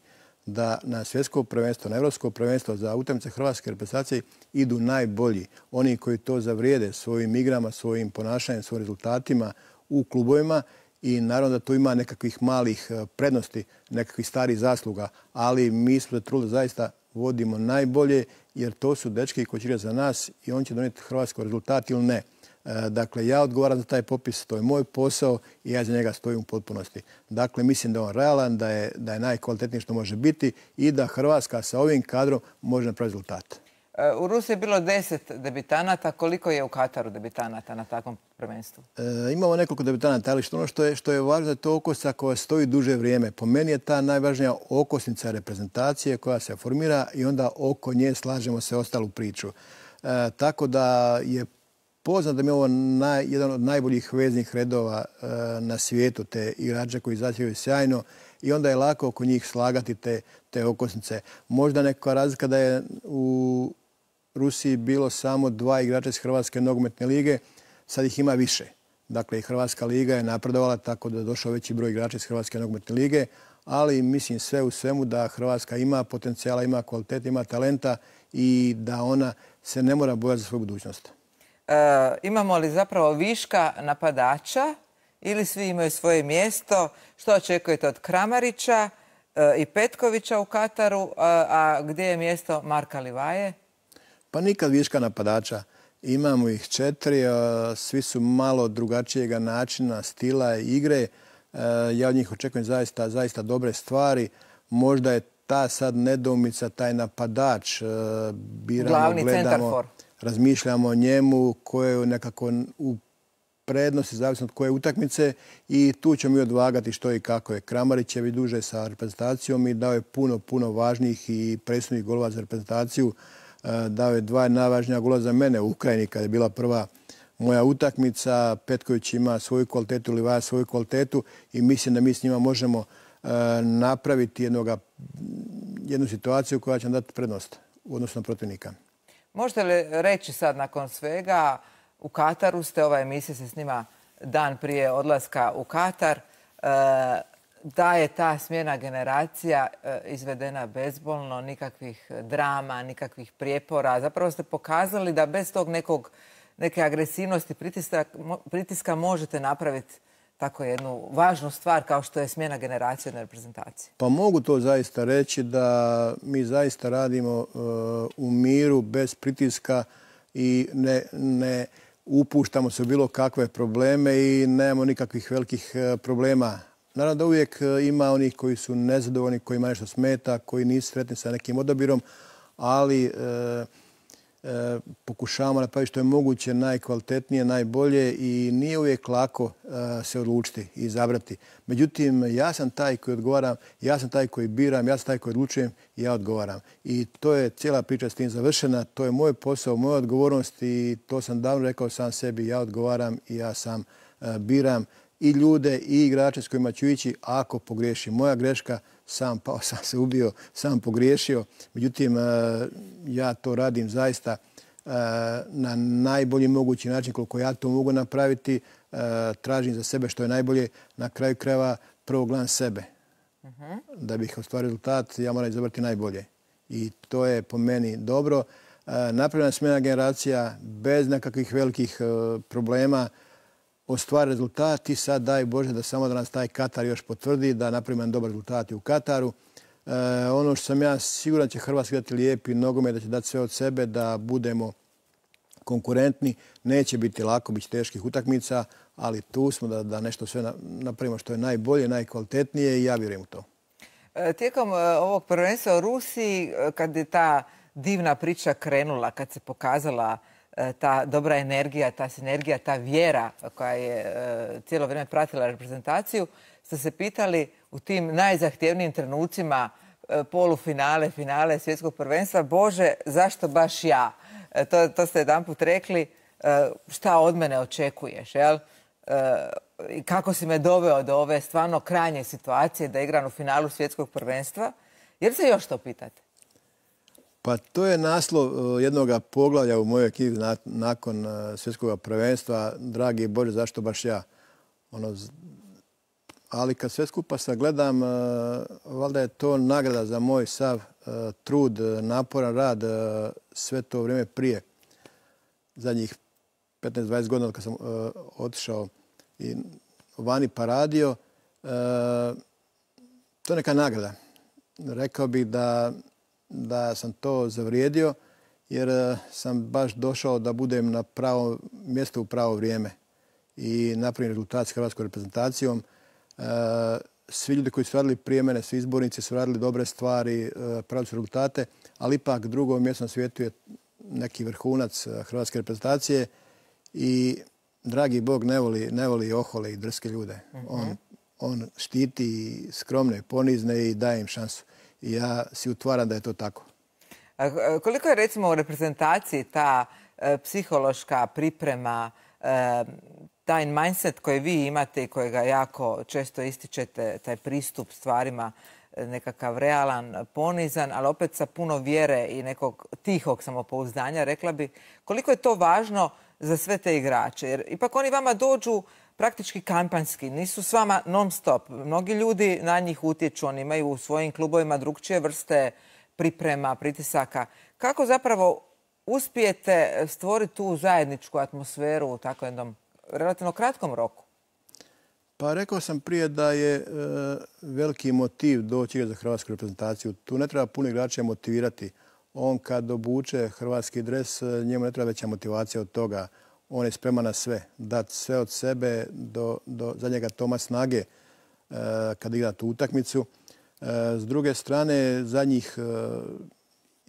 Da na svjetsko prvenstvo, na evropsko prvenstvo za utakmice hrvatske reprezentacije idu najbolji. Oni koji to zavrijede svojim igrama, svojim ponašanjem, svojim rezultatima u klubovima i naravno da tu ima nekakvih malih prednosti, nekakvih starih zasluga, ali mi smo trudili zaista vodimo najbolje jer to su dečki koji će igrati za nas i on će donijeti hrvatsko rezultat ili ne. Dakle, ja odgovaram za taj popis, to je moj posao i ja za njega stojim u potpunosti. Dakle, mislim da je on realan, da je, da je najkvalitetniji što može biti i da Hrvatska sa ovim kadrom može napraviti rezultat. U Rusiji je bilo deset debitanata. Koliko je u Kataru debitanata na takvom prvenstvu? E, imamo nekoliko debitanata, ali što ono što je, što je važno je to okosnica koja stoji duže vrijeme. Po meni je ta najvažnija okosnica reprezentacije koja se formira i onda oko nje slažemo se ostalu priču. E, tako da je poznat da mi je ovo naj, jedan od najboljih veznih redova e, na svijetu, te igrače koji zasijaju sjajno i onda je lako oko njih slagati te, te okosnice. Možda neka razlika da je u Rusiji bilo samo dva igrača iz Hrvatske nogometne lige, sad ih ima više. Dakle, i Hrvatska liga je napredovala tako da je došao veći broj igrača iz Hrvatske nogometne lige, ali mislim sve u svemu da Hrvatska ima potencijala, ima kvaliteta, ima talenta i da ona se ne mora bojati za svoju budućnost. E, imamo li zapravo viška napadača ili svi imaju svoje mjesto? Što očekujete od Kramarića e, i Petkovića u Kataru, a, a gdje je mjesto Marka Livaje? Pa nikad viška napadača. Imamo ih četiri, a, svi su malo drugačijega načina, stila i igre. E, ja od njih očekujem zaista, zaista dobre stvari. Možda je ta sad nedoumica, taj napadač. E, biramo, glavni gledamo, centarfor. Razmišljamo o njemu koje je nekako u prednosti, zavisno od koje utakmice i tu ćemo mi odvagati što i kako je. Kramarić je duže sa reprezentacijom i dao je puno, puno važnijih i presudnih golova za reprezentaciju. Dao je dva najvažnija gola za mene u Ukrajini kada je bila prva moja utakmica. Petković ima svoju kvalitetu, Livaja svoju kvalitetu i mislim da mi s njima možemo napraviti jednoga, jednu situaciju koja će nam dati prednost u odnosu na protivnika. Možete li reći sad nakon svega, u Kataru ste, ova emisija se snima dan prije odlaska u Katar, da je ta smjena generacija izvedena bezbolno, nikakvih drama, nikakvih prijepora. Zapravo ste pokazali da bez tog nekog, neke agresivnosti, pritiska, pritiska možete napraviti tako jednu važnu stvar kao što je smjena generacije na reprezentaciji. Pa mogu to zaista reći da mi zaista radimo uh, u miru, bez pritiska i ne, ne upuštamo se u bilo kakve probleme i nemamo nikakvih velikih uh, problema. Naravno da uvijek uh, ima onih koji su nezadovoljni, kojima nešto smeta, koji nisu sretni sa nekim odabirom, ali uh, E, pokušavamo napraviti što je moguće najkvalitetnije, najbolje i nije uvijek lako e, se odlučiti i izabrati. Međutim, ja sam taj koji odgovaram, ja sam taj koji biram, ja sam taj koji odlučujem i ja odgovaram. I to je cijela priča s tim završena, to je moj posao, moja odgovornost i to sam davno rekao sam sebi, ja odgovaram i ja sam e, biram i ljude i igrače s kojima ću ići ako pogriješim. Moja greška, sam pao, sam se ubio, sam pogriješio. Međutim, ja to radim zaista na najbolji mogući način koliko ja to mogu napraviti. Tražim za sebe što je najbolje. Na kraju krajeva prvo gledam sebe. Da bih ostvario rezultat, ja moram izabrati najbolje. I to je po meni dobro. Napravljena smjena generacija bez nekakvih velikih problema, ostvari rezultat i sad daj Bože da samo da nas taj Katar još potvrdi, da napravimo jedan dobar rezultat i u Kataru. E, ono što sam ja siguran će Hrvatska dati lijepi nogomet, da će dati sve od sebe, da budemo konkurentni. Neće biti lako, bit će teških utakmica, ali tu smo da, da nešto sve napravimo što je najbolje, najkvalitetnije i ja vjerujem u to. E, tijekom ovog prvenstva u Rusiji, kad je ta divna priča krenula, kad se pokazala ta dobra energija, ta sinergija, ta vjera koja je cijelo vrijeme pratila reprezentaciju, ste se pitali u tim najzahtjevnijim trenucima polufinale, finale svjetskog prvenstva, Bože, zašto baš ja? To, to ste jedanput rekli, šta od mene očekuješ, jel? I kako si me doveo do ove stvarno krajnje situacije da igram u finalu svjetskog prvenstva? Jel se još to pitate? Pa to je naslov jednog poglavlja u mojoj knjizi nakon svjetskog prvenstva. Dragi Bože, zašto baš ja? Ono, ali kad sve skupa sagledam, valjda je to nagrada za moj sav trud, naporan rad sve to vrijeme prije. Zadnjih petnaest dvadeset godina kad sam otišao i vani pa radio, to je neka nagrada. Rekao bih da da sam to zavrijedio jer sam baš došao da budem na pravo mjesto u pravo vrijeme i napravim rezultat s hrvatskom reprezentacijom. Svi ljudi koji su radili prije mene, svi izbornici su radili dobre stvari, pravili su rezultate, ali ipak drugo mjesto na svijetu je neki vrhunac hrvatske reprezentacije i dragi Bog ne voli, ne voli ohole i drske ljude. Uh-huh. On, on štiti skromne, ponizne i daje im šansu. I ja si utvaram da je to tako. A koliko je recimo u reprezentaciji ta e, psihološka priprema, e, taj mindset koji vi imate i kojega jako često ističete, taj pristup stvarima, nekakav realan, ponizan, ali opet sa puno vjere i nekog tihog samopouzdanja, rekla bi, koliko je to važno za sve te igrače? Jer ipak oni vama dođu praktički kampanjski, nisu s vama non stop. Mnogi ljudi na njih utječu, oni imaju u svojim klubovima drugčije vrste priprema, pritisaka. Kako zapravo uspijete stvoriti tu zajedničku atmosferu u tako jednom relativno kratkom roku? Pa rekao sam prije da je e, veliki motiv doći za hrvatsku reprezentaciju. Tu ne treba puno igrača motivirati. On kad obuče hrvatski dres, njemu ne treba veća motivacija od toga. On je spreman na sve, dati sve od sebe do, do zadnjega toma snage e, kad igra tu utakmicu. E, s druge strane, zadnjih e,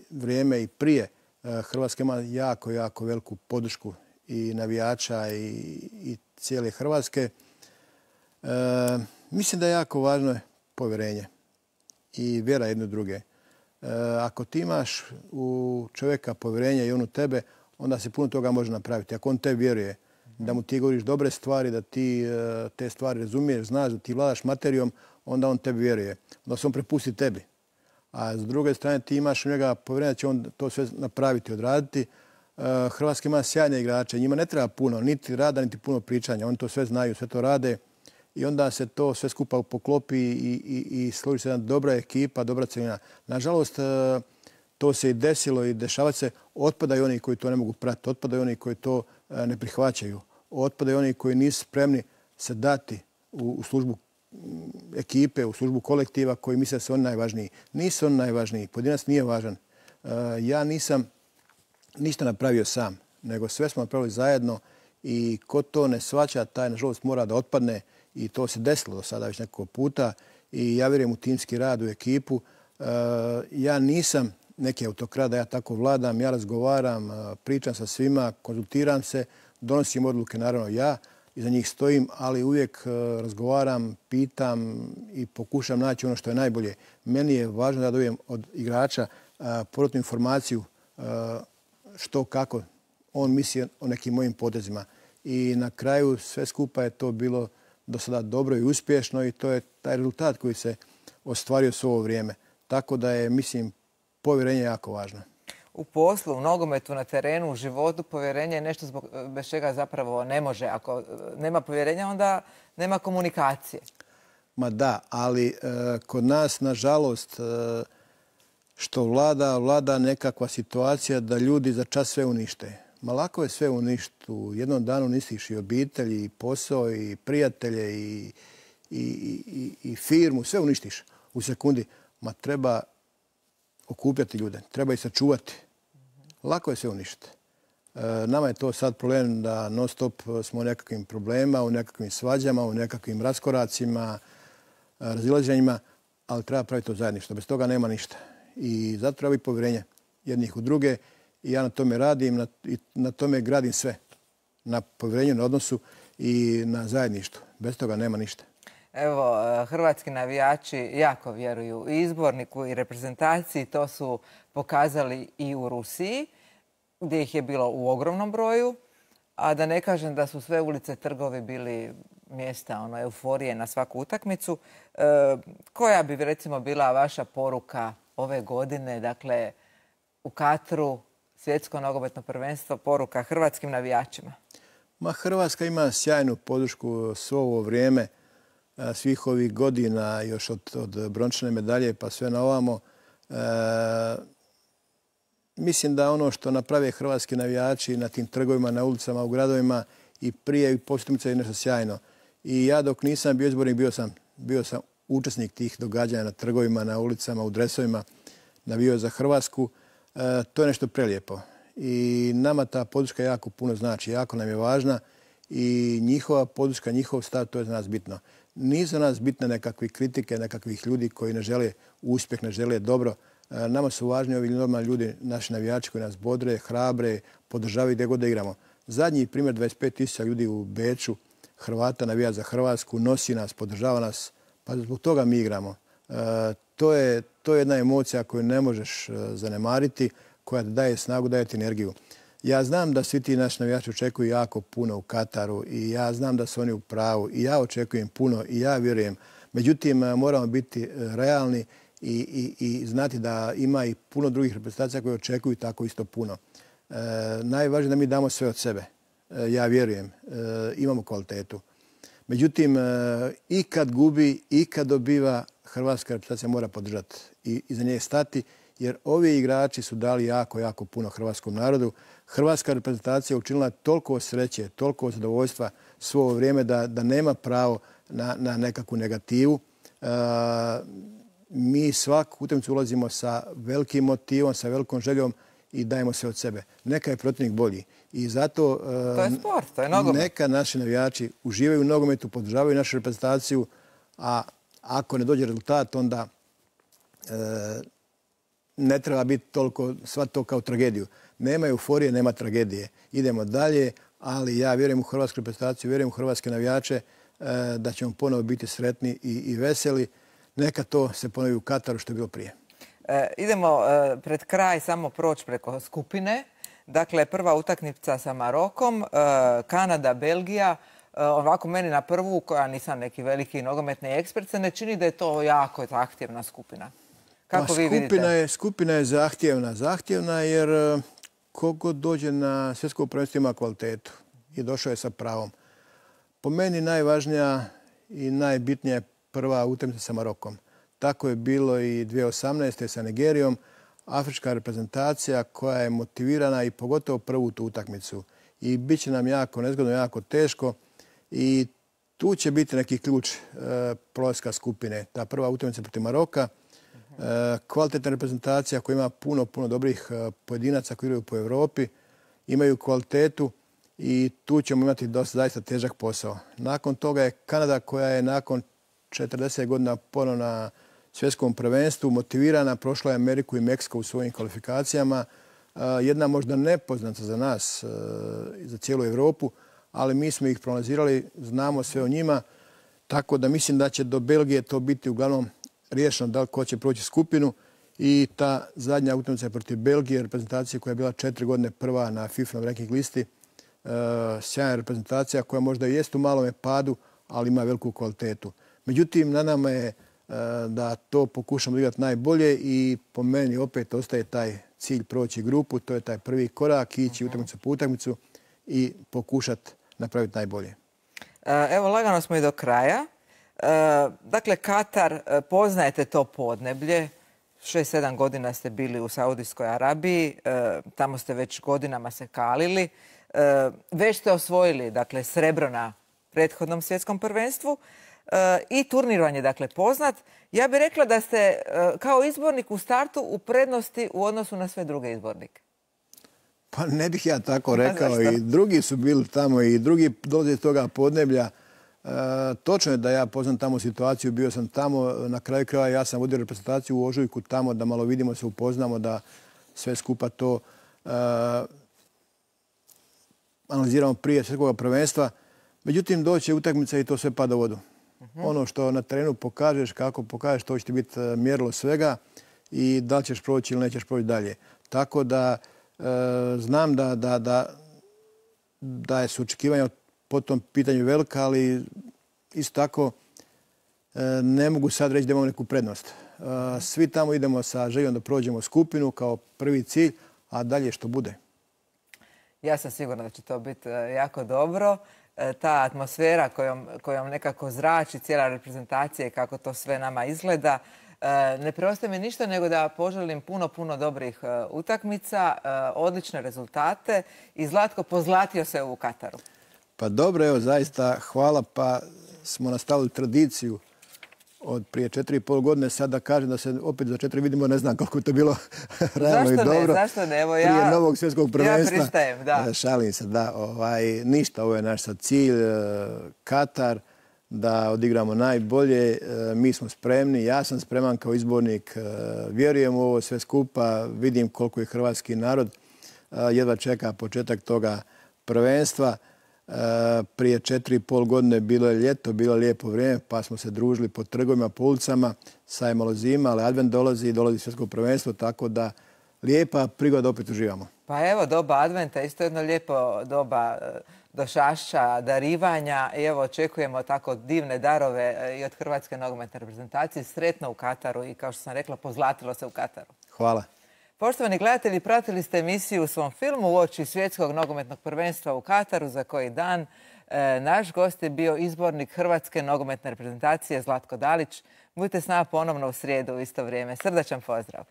vrijeme i prije e, Hrvatska ima jako, jako veliku podršku i navijača i, i cijele Hrvatske. E, mislim da je jako važno povjerenje i vjera jedne druge. E, ako ti imaš u čovjeka povjerenje i on u tebe, onda se puno toga može napraviti. Ako on te vjeruje, da mu ti govoriš dobre stvari, da ti te stvari razumiješ, znaš da ti vladaš materijom, onda on tebi vjeruje. Onda se on prepusti tebi. A s druge strane ti imaš u njega povjerenje da će on to sve napraviti, odraditi. Hrvatska ima sjajne igrače, njima ne treba puno, niti rada, niti puno pričanja. Oni to sve znaju, sve to rade i onda se to sve skupa poklopi i, i, i složi se jedna dobra ekipa, dobra celina. Nažalost, to se i desilo i dešava se, otpadaju oni koji to ne mogu pratiti, otpadaju oni koji to ne prihvaćaju, otpadaju oni koji nisu spremni se dati u, u službu ekipe, u službu kolektiva koji misle da su oni najvažniji. Nisu oni najvažniji, pojedinac nije važan. Ja nisam ništa napravio sam, nego sve smo napravili zajedno i ko to ne shvaća, taj nažalost mora da otpadne i to se desilo do sada već nekoliko puta i ja vjerujem u timski rad, u ekipu. Ja nisam neki autokrat da ja tako vladam, ja razgovaram, pričam sa svima, konzultiram se, donosim odluke naravno ja, iza njih stojim, ali uvijek razgovaram, pitam i pokušam naći ono što je najbolje. Meni je važno da dobijem od igrača povratnu informaciju što, kako on misli o nekim mojim potezima. I na kraju sve skupa je to bilo do sada dobro i uspješno i to je taj rezultat koji se ostvario s ovo vrijeme. Tako da je, mislim, povjerenje jako važno. U poslu, u nogometu, na terenu, u životu, povjerenje je nešto zbog, bez čega zapravo ne može. Ako nema povjerenja, onda nema komunikacije. Ma da, ali e, kod nas, nažalost, e, što vlada, vlada nekakva situacija da ljudi za čas sve unište. Ma lako je sve uništiti. U jednom danu nisiš i obitelj, i posao, i prijatelje, i, i, i, i firmu. Sve uništiš u sekundi. Ma treba okupljati ljude. Treba ih sačuvati. Lako je sve uništiti. E, nama je to sad problem da non stop smo u nekakvim problemima, u nekakvim svađama, u nekakvim raskoracima, razilaženjima, ali treba praviti to zajedništvo. Bez toga nema ništa. I zato treba biti povjerenje jednih u druge i ja na tome radim na, i na tome gradim sve. Na povjerenju, na odnosu i na zajedništvu. Bez toga nema ništa. Evo, hrvatski navijači jako vjeruju i izborniku i reprezentaciji. To su pokazali i u Rusiji, gdje ih je bilo u ogromnom broju. A da ne kažem da su sve ulice, trgovi bili mjesta ono, euforije na svaku utakmicu. E, koja bi recimo bila vaša poruka ove godine, dakle u Katru, svjetsko nogometno prvenstvo, poruka hrvatskim navijačima? Ma, Hrvatska ima sjajnu podršku svo ovo vrijeme, svih ovih godina, još od, od brončane medalje pa sve na ovamo. E, mislim da ono što naprave hrvatski navijači na tim trgovima, na ulicama, u gradovima i prije i poslije je nešto sjajno. I ja dok nisam bio izbornik, bio sam, bio sam učesnik tih događanja na trgovima, na ulicama, u dresovima, navijao za Hrvatsku. E, to je nešto prelijepo. I nama ta podrška jako puno znači, jako nam je važna i njihova podrška, njihov stav, to je za nas bitno. Nisu za nas bitne nekakve kritike, nekakvih ljudi koji ne žele uspjeh, ne žele dobro. E, nama su važni ovi normalni ljudi, naši navijači koji nas bodre, hrabre, podržavaju gdje god da igramo. Zadnji primjer, dvadeset pet tisuća ljudi u Beču, Hrvata navija za Hrvatsku, nosi nas, podržava nas, pa zbog toga mi igramo. E, to je, to je jedna emocija koju ne možeš zanemariti, koja daje snagu, daje ti energiju. Ja znam da svi ti naši navijači očekuju jako puno u Kataru i ja znam da su oni u pravu i ja očekujem puno i ja vjerujem. Međutim, moramo biti realni i, i, i znati da ima i puno drugih reprezentacija koje očekuju tako isto puno. E, najvažnije da mi damo sve od sebe. E, ja vjerujem. E, imamo kvalitetu. Međutim, e, i kad gubi, i kad dobiva, hrvatska reprezentacija mora podržati i iza nje stati, jer ovi igrači su dali jako, jako puno hrvatskom narodu. Hrvatska reprezentacija učinila toliko sreće, toliko zadovoljstva svo ovo vrijeme da, da nema pravo na, na nekakvu negativu. E, mi svaku utakmicu ulazimo sa velikim motivom, sa velikom željom i dajemo sve od sebe. Neka je protivnik bolji. I zato e, to je sport, to je nogomet. Neka naši navijači uživaju u nogometu, podržavaju našu reprezentaciju, a ako ne dođe rezultat, onda e, ne treba biti toliko sva to kao tragediju. Nema euforije, nema tragedije. Idemo dalje, ali ja vjerujem u hrvatsku reprezentaciju, vjerujem u hrvatske navijače da ćemo ponovo biti sretni i, i veseli. Neka to se ponovi u Kataru što je bilo prije. E, idemo e, pred kraj samo proći preko skupine. Dakle, prva utakmica sa Marokom, e, Kanada, Belgija. E, ovako meni na prvu, koja nisam neki veliki nogometni ekspert, se ne čini da je to jako zahtjevna skupina. Kako vi vidite? Skupina je, skupina je zahtjevna. Zahtjevna jer kogo dođe na svjetsko prvenstvo ima kvalitetu i došao je sa pravom. Po meni najvažnija i najbitnija je prva utakmica sa Marokom. Tako je bilo i dvije tisuće osamnaeste. sa Nigerijom. Afrička reprezentacija koja je motivirana i pogotovo prvu tu utakmicu. I bit će nam jako nezgodno, jako teško. I tu će biti neki ključ e, prolaska skupine. Ta prva utakmica protiv Maroka. E, kvalitetna reprezentacija koja ima puno, puno dobrih e, pojedinaca koji igraju po Europi. Imaju kvalitetu i tu ćemo imati dosta zaista težak posao. Nakon toga je Kanada koja je nakon četrdeset godina ponovno na svjetskom prvenstvu motivirana, prošla je Ameriku i Meksiko u svojim kvalifikacijama. Jedna možda nepoznata za nas, za cijelu Europu, ali mi smo ih proanalizirali, znamo sve o njima, tako da mislim da će do Belgije to biti uglavnom riješeno da li ko će proći skupinu i ta zadnja utakmica protiv Belgije, reprezentacija koja je bila četiri godine prva na FIFA ranking listi, sjajna reprezentacija koja možda i jest u malome padu, ali ima veliku kvalitetu. Međutim, na nama je da to pokušamo igrati najbolje i po meni opet ostaje taj cilj proći grupu, to je taj prvi korak, ići utakmicu po utakmicu i pokušati napraviti najbolje. Evo, lagano smo i do kraja. Dakle, Katar, poznajete to podneblje. šest sedam godina ste bili u Saudijskoj Arabiji, tamo ste već godinama se kalili. Već ste osvojili, dakle, srebro na prethodnom svjetskom prvenstvu. I turnir vam je, dakle, poznat. Ja bih rekla da ste kao izbornik u startu u prednosti u odnosu na sve druge izbornike. Pa ne bih ja tako rekao. I drugi su bili tamo i drugi dolaze iz toga podneblja. Točno je da ja poznam tamo situaciju. Bio sam tamo, na kraju kraja ja sam vodio reprezentaciju u Ožujku tamo da malo vidimo, se upoznamo, da sve skupa to analiziramo prije svjetskog prvenstva. Međutim, doće utakmica i to sve pada u vodu. Ono što na terenu pokažeš, kako pokažeš, to će ti biti mjerilo svega i da li ćeš proći ili nećeš proći dalje. Tako da e, znam da, da, da, da su očekivanja po tom pitanju velika, ali isto tako e, ne mogu sad reći da imamo neku prednost. E, svi tamo idemo sa željom da prođemo skupinu kao prvi cilj, a dalje što bude. Ja sam sigurna da će to biti jako dobro. Ta atmosfera kojom, kojom nekako zrači cijela reprezentacija i kako to sve nama izgleda. Ne preostaje mi ništa nego da poželim puno, puno dobrih utakmica, odlične rezultate i Zlatko, pozlatio se u Kataru. Pa dobro, evo, zaista hvala, pa smo nastavili tradiciju od prije četiri i pol godine. Sad da kažem da se opet za četiri vidimo, ne znam koliko je to bilo realno i dobro. Zašto ne? Zašto ne? Evo ja, prije novog svjetskog prvenstva. Ja pristajem, da. Šalim se, da. Ovaj, ništa, ovo je naš sad cilj. Katar, da odigramo najbolje. Mi smo spremni, ja sam spreman kao izbornik. Vjerujem u ovo sve skupa, vidim koliko je hrvatski narod. Jedva čeka početak toga prvenstva. Prije četiri i pol godine bilo je ljeto, bilo je lijepo vrijeme, pa smo se družili po trgovima, po ulicama, sad je malo zima, ali advent dolazi i dolazi svjetsko prvenstvo, tako da lijepa prigoda opet uživamo. Pa evo, doba adventa, isto jedno lijepo doba došašća, darivanja i evo očekujemo tako divne darove i od Hrvatske nogometne reprezentacije. Sretno u Kataru i kao što sam rekla, pozlatilo se u Kataru. Hvala. Poštovani gledatelji, pratili ste emisiju u svom filmu uoči svjetskog nogometnog prvenstva u Kataru za koji dan. E, naš gost je bio izbornik Hrvatske nogometne reprezentacije Zlatko Dalić. Budite s nama ponovno u srijedu u isto vrijeme. Srdačan pozdrav!